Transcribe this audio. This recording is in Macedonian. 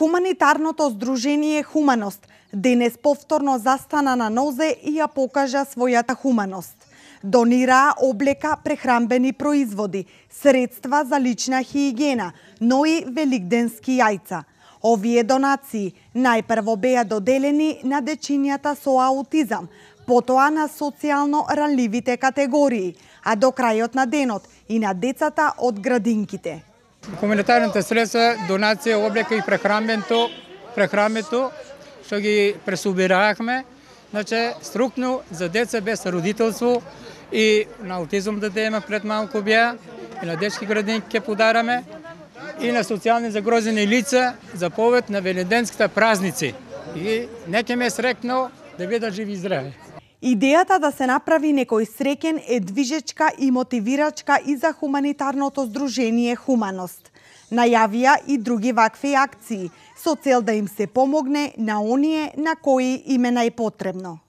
Хуманитарното здружение Хуманост денес повторно застана на нозе и ја покажа својата хуманост. Донираа облека, прехранбени производи, средства за лична хигиена, но и великденски јајца. Овие донации најпрво беа доделени на дечињата со аутизам, потоа на социјално ранливите категории, а до крајот на денот и на децата од градинките. Хуманитарните средства, донација, облека и прехранбето, што ги пресубираахме, значи структно за деца без родителство и на аутизм да има пред малку беа, и на детски градинки ќе подараме, и на социјални загрозени лица за повод на великденските празници. И нека ме срекно да бидат живи и здрави. Идејата да се направи некој среќен е движечка и мотивирачка и за хуманитарното здружение Хуманост. Најавија и други вакви акции, со цел да им се помогне на оние на кои им е најпотребно.